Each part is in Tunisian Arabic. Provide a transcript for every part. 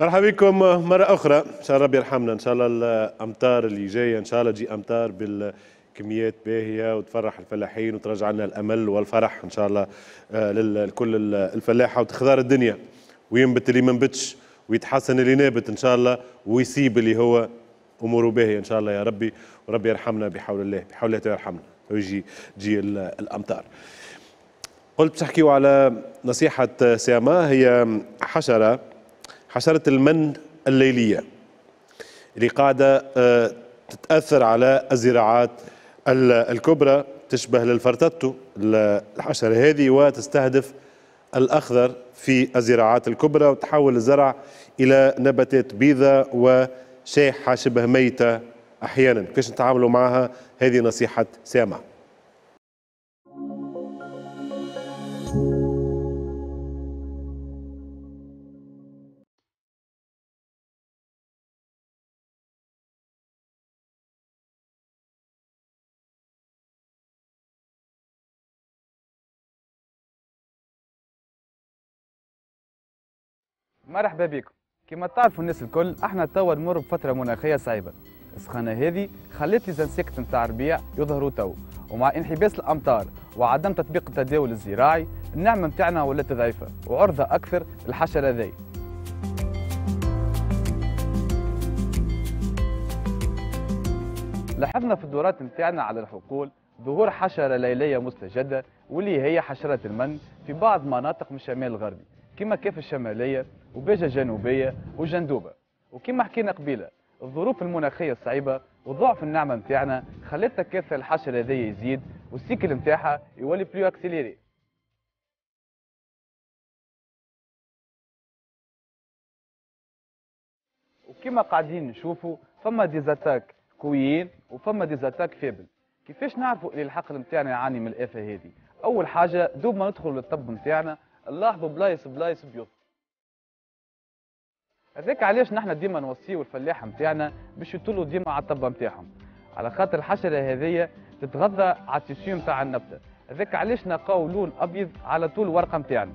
مرحبا بكم مرة أخرى، إن شاء الله ربي يرحمنا، إن شاء الله الأمطار اللي جاية إن شاء الله تجي أمطار بالكميات باهية وتفرح الفلاحين وترجع لنا الأمل والفرح إن شاء الله لكل الفلاحة، وتخضار الدنيا وينبت اللي ما نبتش ويتحسن اللي نابت إن شاء الله، ويسيب اللي هو أموره باهية إن شاء الله يا ربي، وربي يرحمنا بحول الله، بحول الله يرحمنا ويجي تجي الأمطار. قلت باش نحكيو على نصيحة CMA، هي حشرة المن الليلية اللي قاعدة تتأثر على الزراعات الكبرى، تشبه للفرتتو الحشرة هذه، وتستهدف الأخضر في الزراعات الكبرى وتحول الزرع إلى نباتات بيضاء وشاحة شبه ميتة أحيانا. كيفاش نتعاملوا معها؟ هذه نصيحة CMA. مرحبا بكم. كما تعرفوا الناس الكل، احنا توا نمر بفترة مناخيه صعيبة. السخانه هذه خلت les insectes نتاع الربيع يظهروا تو، ومع انحباس الامطار وعدم تطبيق التداول الزراعي النعمة نتاعنا ولات ضعيفة وعرضه اكثر للحشره ذي. لاحظنا في الدورات نتاعنا على الحقول ظهور حشرة ليليه مستجده واللي هي حشرة المن في بعض مناطق من الشمال الغربي كما كيف الشمالية وباجة الجنوبية وجندوبة. وكما حكينا قبيلة، الظروف المناخية الصعيبة وضعف النعمة نتاعنا خلت تكاثر الحشرة هذيا يزيد وال cycle نتاعها يولي plus accéléré. وكما قاعدين نشوفوا فما des attaques قويين وفما des attaques faibles. كيفاش نعرفوا اللي الحقل نتاعنا يعاني من الآفة هذه؟ أول حاجة دوب ما ندخلوا للطب نتاعنا نلاحظوا بلايص بلايص بيض. هذاك علاش نحن ديما نوصيو الفلاحة نتاعنا باش يطلوا ديما على الطبه نتاعهم، على خاطر الحشرة هذيا تتغذى على ال tissu نتاع النبتة. هذاك علاش نلقاو لون ابيض على طول الورقة نتاعنا.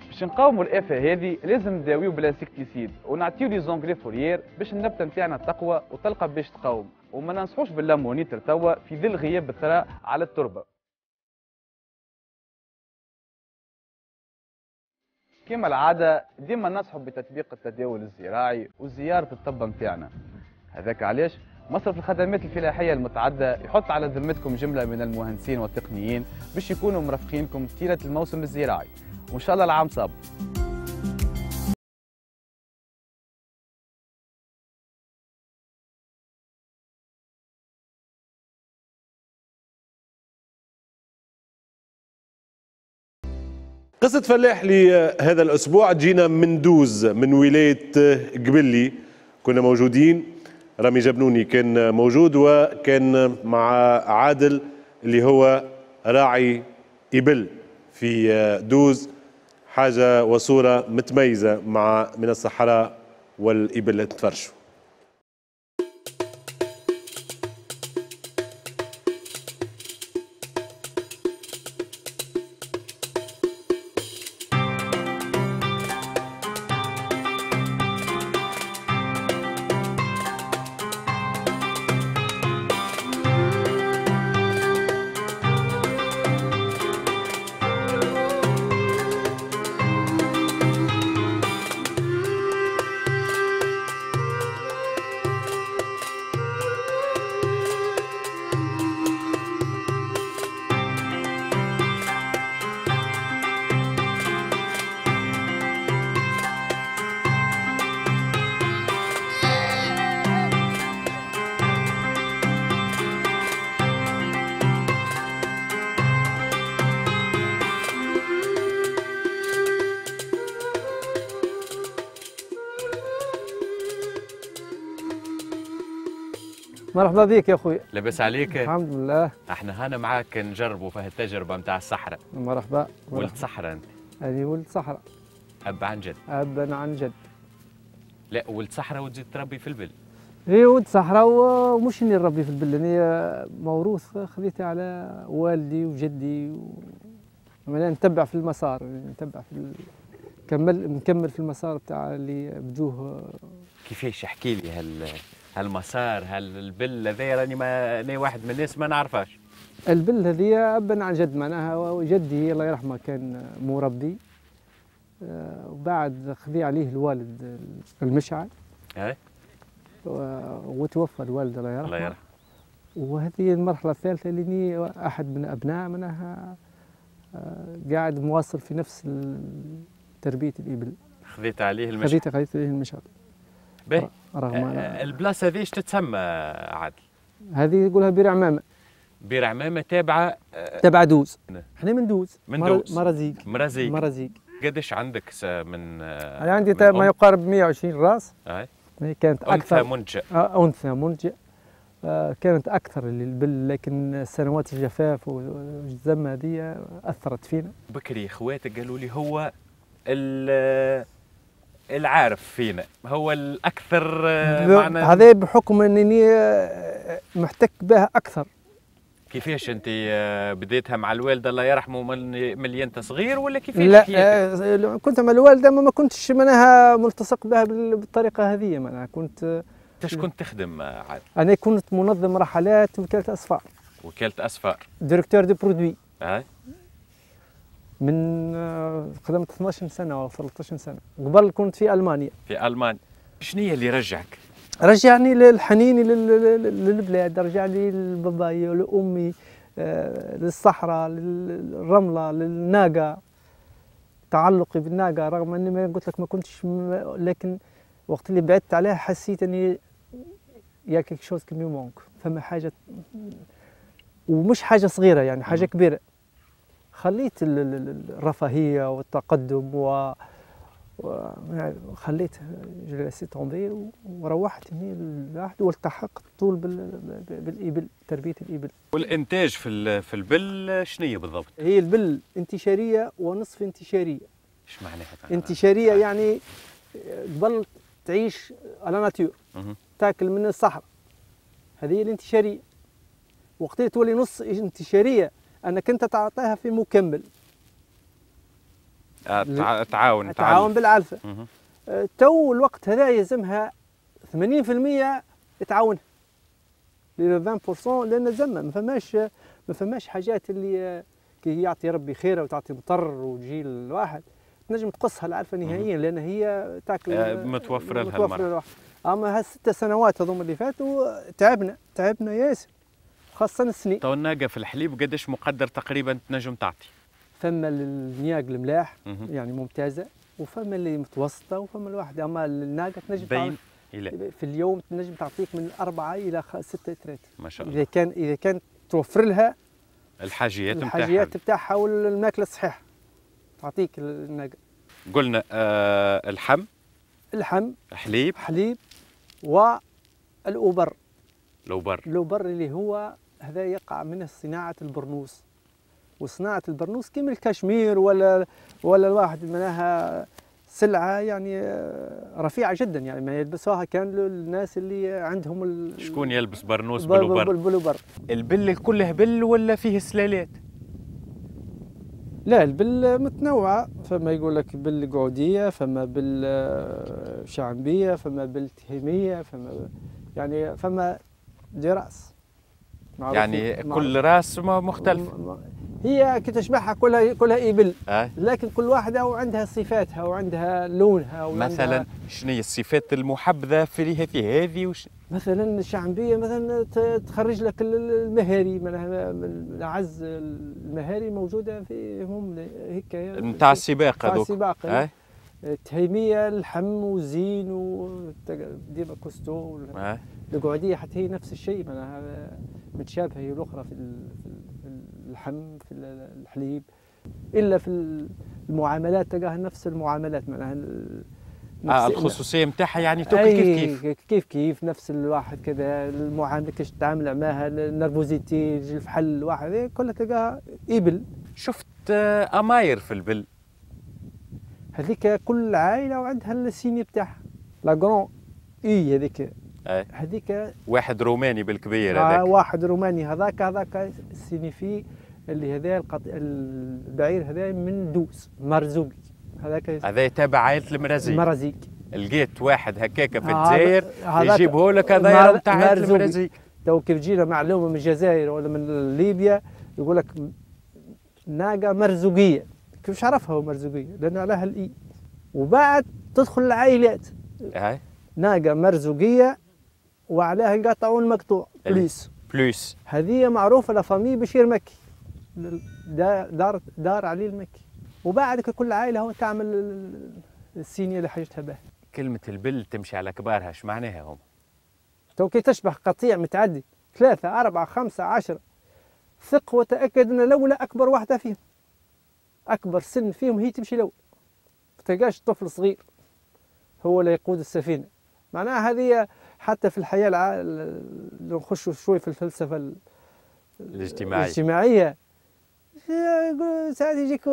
باش نقاوموا الافة هذه لازم نداويو بال insecticide ونعطيو les engrais foliaires باش النبتة نتاعنا تقوى وتلقى باش تقاوم، وما ننصحوش بال ammonitre توا في ظل غياب الثراء على التربة. كما العادة ديما ننصحوا بتطبيق التداول الزراعي وزيارة الطبة نتاعنا. هذاك علاش مصرف الخدمات الفلاحية المتعددة يحط على ذمتكم جملة من المهندسين والتقنيين باش يكونوا مرافقينكم طيلة الموسم الزراعي، وإن شاء الله العام صاب. قصة فلاح لهذا الأسبوع جينا من دوز من ولاية قبلي، كنا موجودين، رامي جبنوني كان موجود وكان مع عادل اللي هو راعي إبل في دوز، حاجة وصورة متميزة مع من الصحراء والإبل اللي تفرشوا. مرحبا بك يا خويا. لاباس عليك؟ الحمد لله. احنا هنا معاك نجربوا في هالتجربه نتاع الصحراء. مرحبا. ولد صحراء انت؟ هذه ولد صحراء. اب عن جد؟ ابا عن جد. لا ولد صحراء وتزيد تربي في البل. اي ولد صحراء ومش اني نربي في البل، انا موروث خذيته على والدي وجدي معناها نتبع في المسار، نتبع في نكمل في المسار بتاع اللي بدوه. كيفاش؟ احكي لي هالمسار، هالبل هذايا، راني ما انا واحد من الناس ما نعرفهاش. البل هذه ابا عن جد، معناها جدي الله يرحمه كان مربي، وبعد خذي عليه الوالد المشعل. اي. وتوفى الوالد الله يرحمه. الله يرحمه. وهذه المرحلة الثالثة اللي احد من ابناء معناها قاعد مواصل في نفس تربيه الابل. خذيت عليه المشعل. خذيت عليه المشعل. باهي. رغم البلاصة هذه ايش تتسمى عادل؟ هذه يقولها بير عمامه. بير عمامه تابعه تابعه دوز. احنا من دوز. من دوز. مرازيق. مرازيق. مرازيق. قداش عندك من؟ انا عندي ما يقارب 120 راس. اي. كانت اكثر. انثى منتجه. انثى منتجه. كانت اكثر للبل، لكن سنوات الجفاف والزمه هذه اثرت فينا. بكري اخواتك قالوا لي هو العارف فينا، هو الاكثر معنا. هذا بحكم انني محتك بها اكثر. كيفاش انت بديتها مع الوالدة الله يرحمه من اللي انت صغير ولا كيفاش؟ لا، كنت مع الوالدة ما كنتش معناها ملتصق بها بالطريقة هذه. معناها كنت ايش كنت تخدم عاد؟ انا كنت منظم رحلات وكالة اسفار. وكالة اسفار. directeur de produits. اي. من خدمت 12 سنة او 13 سنة، قبل كنت في المانيا. في المانيا. شنو هي اللي رجعك؟ رجعني للحنين للبلاد، رجعني لباباي ولامي، للصحراء، للرمله، للناقه. تعلقي بالناقه رغم اني ما قلت لك ما كنتش، لكن وقت اللي بعدت عليها حسيت اني y a quelque chose qui me manque، فما حاجة، ومش حاجة صغيرة يعني حاجة كبيرة. خليت الرفاهية والتقدم و خليت laissé tomber وروحت هنا الواحد والتحقت طول بالابل، تربيه الابل. والانتاج في البل شنية بالضبط؟ هي البل انتشاريه ونصف انتشاريه. ايش معناها؟ انتشاريه يعني قبل تعيش à la nature، تاكل من الصحراء، هذه هي الانتشاريه. وقت تولي نص انتشاريه انك انت تعطيها في مكمل. تعاون بالعلفه. تو الوقت هذا يلزمها 80% تعاونها ل 20%، لان زعما ما فماش حاجات اللي كي يعطي ربي خيره وتعطي مطر وتجي الواحد تنجم تقصها العلفه نهائيا، لان هي تاكل متوفرة لها المرة. اما هالست سنوات هذوما اللي فاتوا تعبنا ياسر، خاصة السنين. تو الناقة في الحليب قداش مقدر تقريبا تنجم تعطي؟ فما النياق الملاح يعني ممتازة، وفما اللي متوسطه، وفما الواحد. اما الناقة تنجم بين إلى في اليوم تنجم تعطيك من 4 الى 6 لترات ما شاء الله، اذا كان توفر لها الحاجيات بتاعها والماكله الصحيحة تعطيك الناقة. قلنا اللحم، حليب، والأوبر. الأوبر اللي هو هذا يقع منه صناعة البرنوس. وصناعة البرنوس كيما الكشمير ولا الواحد معناها سلعة يعني رفيعة جدا، يعني ما يلبسوها كان الناس اللي عندهم شكون يلبس برنوس بالأوبر؟ بالأوبر. البل كله بل ولا فيه سلالات؟ لا، البل متنوعة، فما يقول لك بل قعودية، فما بل شعبية، فما بل تهيمية، فما يعني فما des races. يعني كل race مختلف. هي كي تشبعها كلها إبل، لكن كل واحدة وعندها صفاتها وعندها لونها وعندها. مثلا شنو هي الصفات المحبذة في هذه مثلا الشعبية مثلا تخرج لك المهاري، من أعز المهاري موجودة فيهم هيك نتاع السباق هذوك. نتاع السباق. التهيمية اللحم وزين وديما costaud. القعودية حتى هي نفس الشيء، معناها متشابهة هي الأخرى في اللحم في الحليب، إلا في المعاملات تلقاها نفس المعاملات، معناها الخصوصية نتاعها يعني تاكل كيف كيف كيف كيف نفس الواحد كذا، المعاملة كيفاش تتعامل معاها، ال nervosité، الفحل الواحد كلها تلقاها إبل. شفت أماير في البل هذيك كل عائلة وعندها ال signe بتاعها، la grande اي هذيك هذيك واحد روماني بالكبير هذاك، واحد روماني هذاك signifie اللي هذا البعير هذا من دوز مرزوقي. هذاك هذا يتابع عائلة المرازيق. المرازيق. لقيت واحد هكاك في الجزائر يجيبه لك هذا نتاع عائلة المرازيق. تو كيف تجينا معلومة من الجزائر ولا من ليبيا يقول لك ناقة مرزوقيه، كيفاش عرفها هو مرزوقيه؟ لان عليها الاي. وبعد تدخل العائلات. ناقة مرزوقيه وعليها القطع المقطوع plus plus. هذه معروفة la famille بشير مكي، دار علي المكي. وبعد كل عائلة هو تعمل السينيه اللي حاجتها به. كلمة البل تمشي على كبارها، اش معناها هم؟ تو كي تشبح قطيع متعدي 3 4 5 10، ثق وتاكد ان الاولى اكبر واحدة فيهم، اكبر سن فيهم هي تمشي الاول. ما تلقاش طفل صغير هو اللي يقود السفينة. معناها هذه حتى في الحياة لو نخشوا شوي في الفلسفة الاجتماعية، ساعات يجيك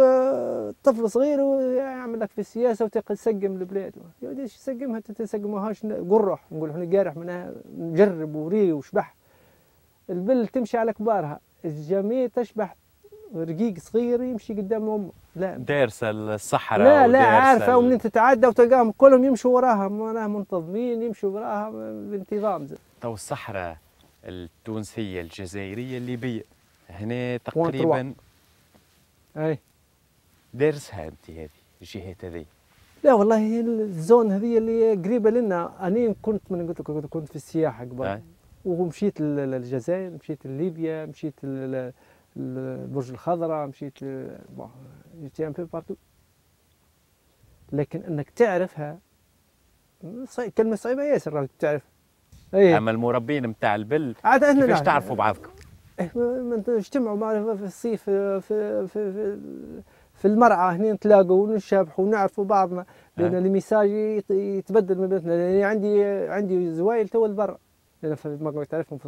طفل صغير ويعمل لك في السياسة وتسقم البلاد. يا ودي ايش تسقمها؟ تسقموهاش قرح، نقول احنا قارح منها، نجرب وري وشبح. البل تمشي على كبارها، الجميع تشبح رقيق صغير يمشي قدام امه. لا دارسه الصحراء، لا لا عارفه ومنين تتعدى، وتلقاهم كلهم يمشوا وراها، معناها منتظمين يمشوا وراها بانتظام. تو الصحراء التونسية الجزائرية الليبية هنا تقريبا اي دارسها انت هذه الجهات هذه؟ لا والله هي ال zone هذه اللي قريبه لنا. انا كنت من قلت لك كنت في السياحة قبل، ومشيت للجزائر، مشيت لليبيا، مشيت للبرج الخضراء، مشيت bon j'étais un peu partout. لكن انك تعرفها كلمة صعيبة ياسر راك تعرف. أيه. اما المربين نتاع البل كيفاش تعرفوا بعضكم؟ نجتمعوا معنا في الصيف في في في, في المرعى هنا، نتلاقوا ونشابحوا ونعرفوا بعضنا، لان ال message يتبدل ما بيناتنا. لان عندي زوايل تو البر، لان ما تعرفهم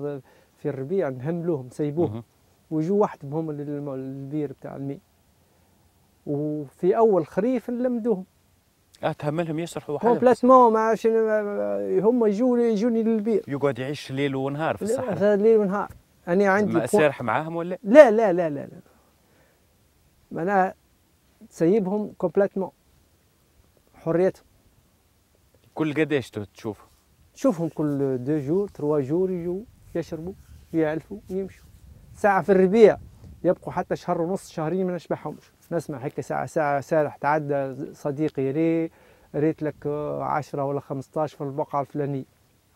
في الربيع نهملوهم نسيبوهم ويجوا وحدهم هم البير بتاع الماء، وفي اول خريف نلمدوهم. تهملهم يسرحوا وحدهم complètement، ما هم يجوني للبير. يقعد يعيش ليل ونهار في الصحراء. ليل ونهار. أنا عندي سارح معاهم ولا؟ لا لا لا لا لا، معناها تسيبهم complètement حريتهم. كل قداش تشوفهم؟ تشوفهم كل 2 jours 3 jours، يجوا يشربوا يعلفوا ويمشوا. ساعة في الربيع يبقوا حتى شهر ونص شهرين ما نشبعهمش. نسمع هيك ساعة ساعة سارح تعدى صديقي ريت لك 10 ولا 15 في البقعة الفلانية.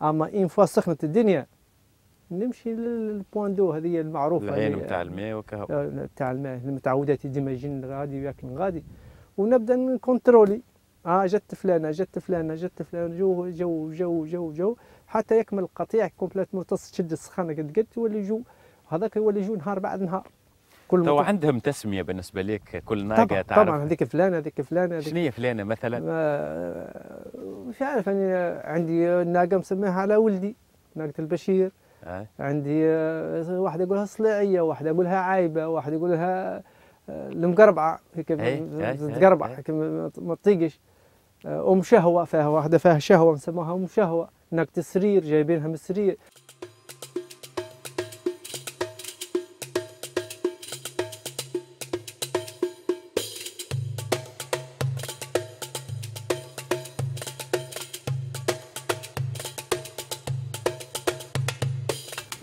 أما une fois سخنت الدنيا نمشي لل point d'eau هذه المعروفة، العين نتاع الماء وكهو نتاع الماء المتعودات ديما يجين غادي وياكل غادي، ونبدا ن contrôler. جت فلانه جت فلانه جت فلانه، جو جو جو جو جو حتى يكمل القطيع complètement، تشد السخانه قد قد يولي جو هذاك، يولي جو نهار بعد نهار. كل تو عندهم تسميه بالنسبة لك كل ناقة تعرف؟ طبعا هذيك فلانه هذيك فلانه. شنو هي فلانه مثلا؟ مش عارف، انا عندي ناقة مسميها على ولدي، ناقة البشير. عندي واحدة يقولها صليعيه، واحدة يقولها عايبه، واحدة يقولها المقربعه، هيك تقربع هيك ما تطيقش. ام شهوة، فيها واحدة فيها شهوة نسموها ام شهوة. ناقة السرير جايبينها من السرير.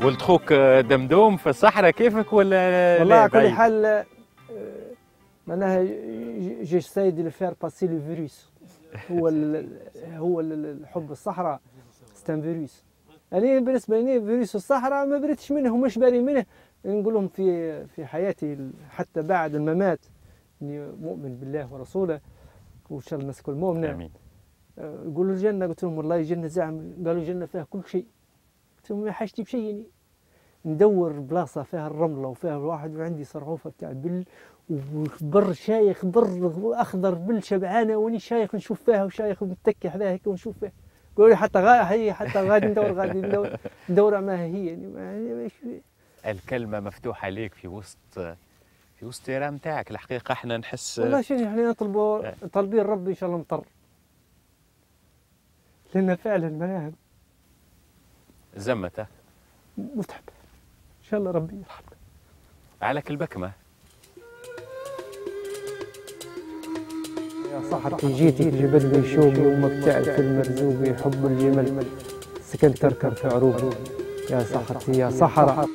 ولد خوك دمدوم في الصحراء كيفك ولا؟ والله على كل حال معناها j'essaie de faire passer le virus. هو هو الحب الصحراء c'est un virus. انا بالنسبة لي فيروس الصحراء ما بريتش منه ومش باري منه. نقول لهم في حياتي حتى بعد الممات اني مؤمن بالله ورسوله، وان شاء الله الناس الكل مؤمنة. امين. يقولوا الجنة، قلت لهم والله الجنة زعم، قالوا الجنة فيها كل شيء. قلت لهم ما حاجتي بشيء، يعني ندور بلاصة فيها الرملة وفيها الواحد، وعندي صرعوفه بتاع بل وبر شايخ، بر اخضر بل شبعانه، واني شايخ نشوف فيها وشايخ متكي حداها هيك ونشوف فيها. قالوا لي حتى هي حتى غادي ندور غادي ندور ما هي يعني. الكلمة مفتوحة ليك في وسط ال terrain نتاعك. الحقيقة احنا نحس والله شنو احنا نطلبوا طالبين ربي ان شاء الله مطر، لان فعلا معناها زمته متعب. ان شاء الله ربي يرحمنا. على كل بكمه. يا صحتي جيتك جبل لي شوقي ومك في المرزوقي، حب الجمل سكنت تركب في عروقي. يا صحتي يا صحراء.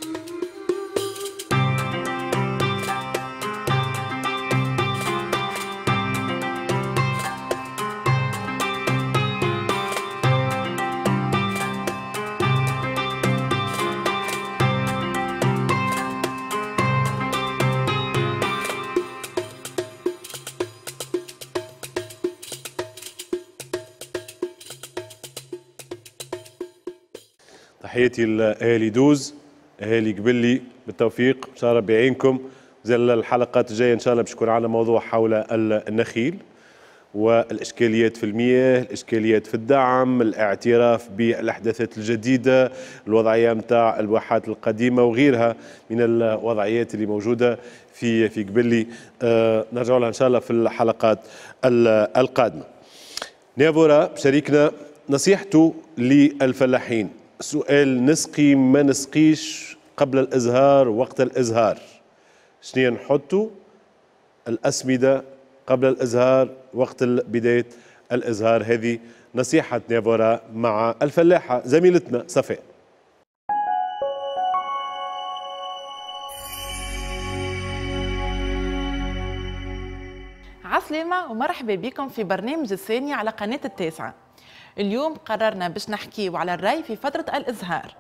تحياتي لاهالي دوز، اهالي قبلي، بالتوفيق ان شاء الله ربي يعينكم. زي الحلقات الجاية ان شاء الله باش يكون عندنا موضوع حول النخيل والاشكاليات في المياه، الاشكاليات في الدعم، الاعتراف بالاحداثات الجديدة، الوضعية نتاع الواحات القديمة وغيرها من الوضعيات اللي موجودة في قبلي. نرجع لها ان شاء الله في الحلقات القادمة. نافورا شريكنا نصيحته للفلاحين، سؤال نسقي ما نسقيش قبل الإزهار وقت الإزهار، شنو نحطوا الأسمدة قبل الإزهار وقت بداية الإزهار؟ هذه نصيحة نافورا مع الفلاحة زميلتنا صفاء. عسلامة ومرحبا بكم في برنامج الثانية على قناة التاسعة. اليوم قررنا باش نحكيو على الري في فترة الإزهار،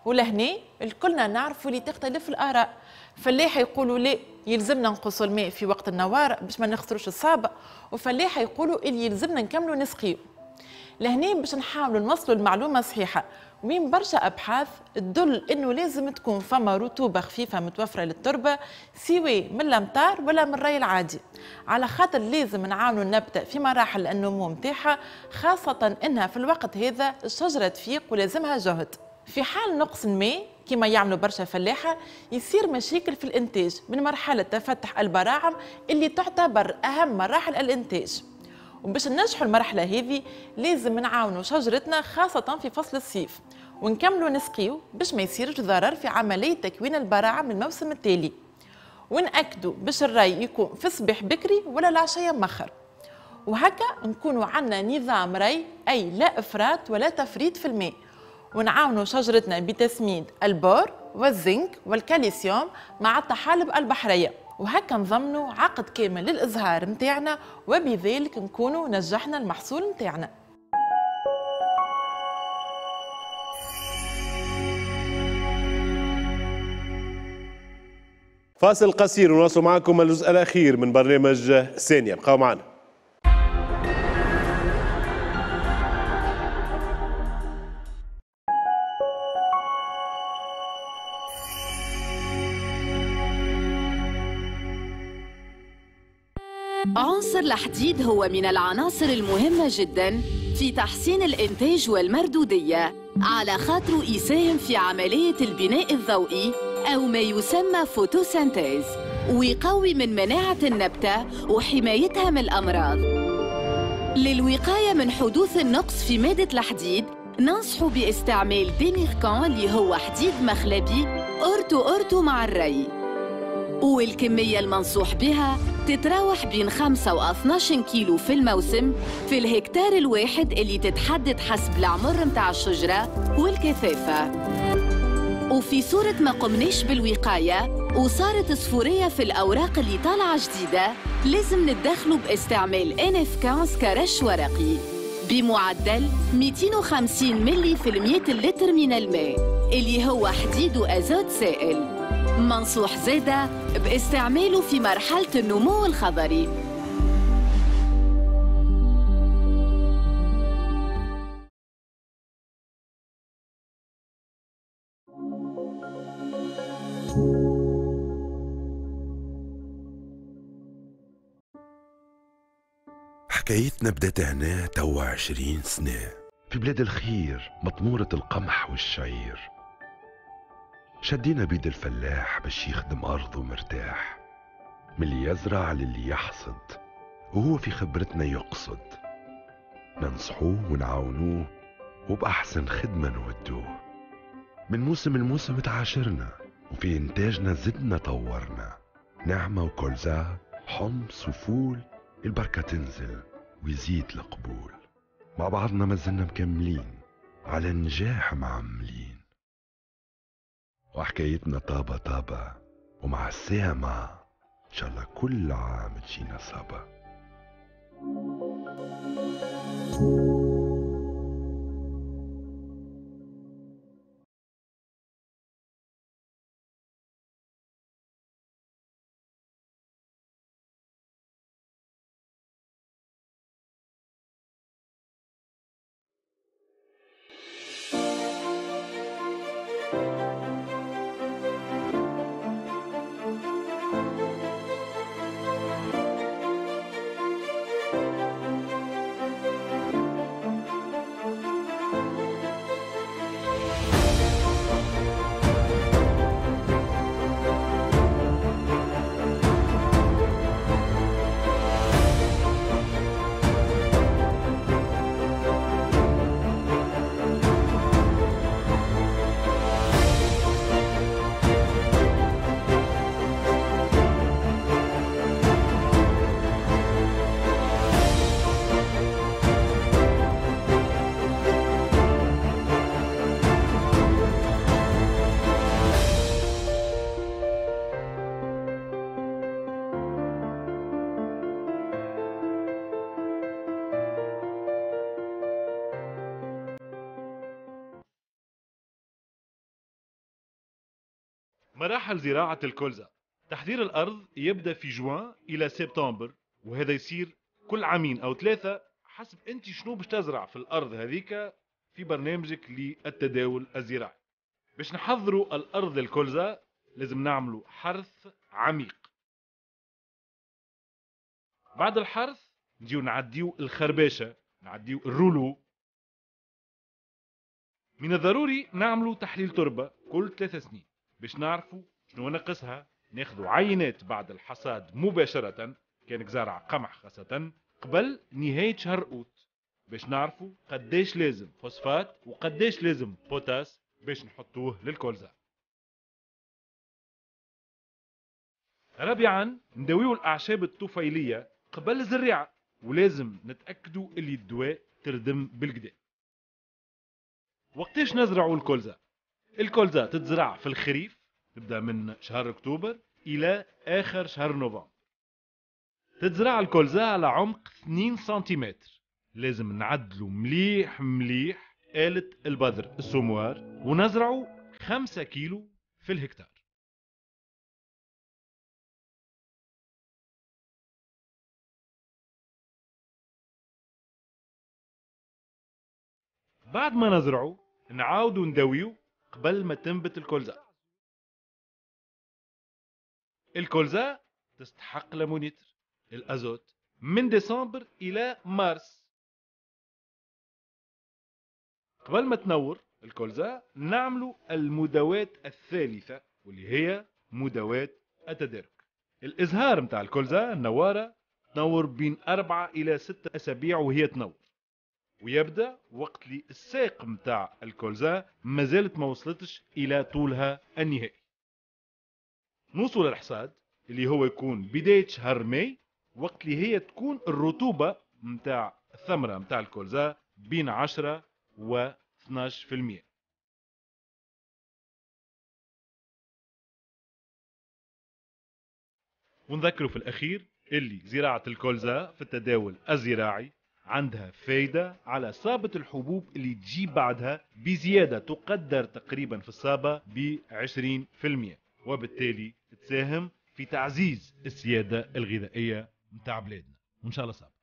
ولهنا الكلنا نعرفوا اللي تختلف الآراء. فلاحة يقولوا لا يلزمنا نقصوا الماء في وقت النوار باش ما نخسروش الصابة، وفلاحة يقولوا اللي يلزمنا نكملوا نسقيو. لهنا باش نحاولوا نوصلوا المعلومة صحيحة، وين برشا أبحاث تدل إنه لازم تكون فما رطوبة خفيفة متوفرة للتربة سواء من الأمطار ولا من الري العادي، على خاطر لازم نعاونوا النبتة في مراحل النمو متاعها، خاصة إنها في الوقت هذا الشجرة تفيق ولازمها جهد. في حال نقص الماء كما يعملوا برشا فلاحة يصير مشاكل في الإنتاج من مرحلة تفتح البراعم اللي تعتبر أهم مراحل الإنتاج. وباش ننجحوا المرحلة هذه لازم نعاونوا شجرتنا خاصة في فصل الصيف، ونكملوا نسقيو باش ما يصيرش ضرر في عملية تكوين البراعم الموسم التالي، ونأكدوا باش الري يكون في الصباح بكري ولا العشية مخر، وهكا نكونوا عندنا نظام ري أي لا إفراط ولا تفريط في الماء، ونعاونوا شجرتنا بتسميد البور والزنك والكالسيوم مع الطحالب البحرية، وهكا نضمنوا عقد كامل للإزهار متاعنا، وبذلك نكونوا نجحنا المحصول متاعنا. فاصل قصير ونواصل معكم الجزء الأخير من برنامج ثانية، بقاو معنا. عنصر الحديد هو من العناصر المهمة جداً في تحسين الإنتاج والمردودية، على خاطره يساهم في عملية البناء الضوئي أو ما يسمى photosynthèse، ويقوي من مناعة النبتة وحمايتها من الأمراض. للوقاية من حدوث النقص في مادة الحديد ننصح باستعمال ديميركان اللي هو حديد مخلبي أورتو أورتو مع الري، والكمية المنصوح بها تتراوح بين 5 و 12 كيلو في الموسم في الهكتار الواحد اللي تتحدد حسب العمر متاع الشجرة والكثافة. وفي صورة ما قمناش بالوقاية وصارت صفورية في الأوراق اللي طالعة جديدة لازم نتدخلوا باستعمال NF15 كرش ورقي بمعدل 250 ملي في المية لتر من الماء اللي هو حديد وأزوت سائل. منصوح زادة باستعماله في مرحلة النمو الخضري. حكايتنا بدأت هنا توا 20 سنة في بلاد الخير مطمورة القمح والشعير. شدينا بيد الفلاح باش يخدم أرضه مرتاح، من اللي يزرع للي يحصد وهو في خبرتنا يقصد. ننصحوه ونعاونوه وبأحسن خدمة نودوه. من موسم لموسم تعاشرنا وفي إنتاجنا زدنا طورنا، نعمة وكولزا، حمص وفول، البركة تنزل ويزيد القبول. مع بعضنا ما زلنا مكملين، على النجاح معملين. وحكايتنا طابة طابة، ومع السامة إن شاء الله كل عام تجينا صابة. مراحل زراعة الكولزا. تحضير الأرض يبدأ في جوان إلى سبتمبر، وهذا يصير كل عامين أو 3 حسب أنت شنو باش تزرع في الأرض هذيك في برنامجك للتداول الزراعي. باش نحضروا الأرض للكولزا لازم نعملوا حرث عميق. بعد الحرث نجيو نعديو الخرباشة، نعديو ال rouleau. من الضروري نعملوا تحليل تربة كل 3 سنين باش نعرفوا شنو ناقصها، ناخذوا عينات بعد الحصاد مباشرة كانك زارع قمح خاصة قبل نهاية شهر أوت باش نعرفوا قداش لازم فوسفات وقداش لازم بوتاس باش نحطوه للكولزا. رابعا نداويو الأعشاب الطفيلية قبل الزريعة، ولازم نتأكدوا اللي الدواء تردم بالكدا. وقتاش نزرعوا الكولزا؟ الكولزا تتزرع في الخريف، تبدأ من شهر أكتوبر إلى آخر شهر نوفمبر. تتزرع الكولزا على عمق 2 سنتيمتر. لازم نعدلو مليح مليح آلة البذر ال semoir، ونزرعو 5 كيلو في الهكتار. بعد ما نزرعو نعاودو نداويو قبل ما تنبت الكولزا. الكولزا تستحق l'ammonitre الازوت من ديسمبر الى مارس. قبل ما تنور الكولزا نعملوا المداوات الثالثة واللي هي مداوات التدارك. الازهار متاع الكولزا النوارة تنور بين 4 الى 6 اسابيع وهي تنور، ويبدا وقت اللي الساق متاع الكولزا مازالت ما وصلتش الى طولها النهائي. نوصل للحصاد اللي هو يكون بداية شهر ماي، وقت اللي هي تكون الرطوبة متاع الثمرة متاع الكولزا بين 10 و 12%. ونذكروا في الأخير اللي زراعة الكولزا في التداول الزراعي عندها فايدة على صابة الحبوب اللي تجي بعدها بزيادة تقدر تقريبا في الصابة ب 20%، وبالتالي تساهم في تعزيز السيادة الغذائية متاع بلادنا. وإن شاء الله صابة.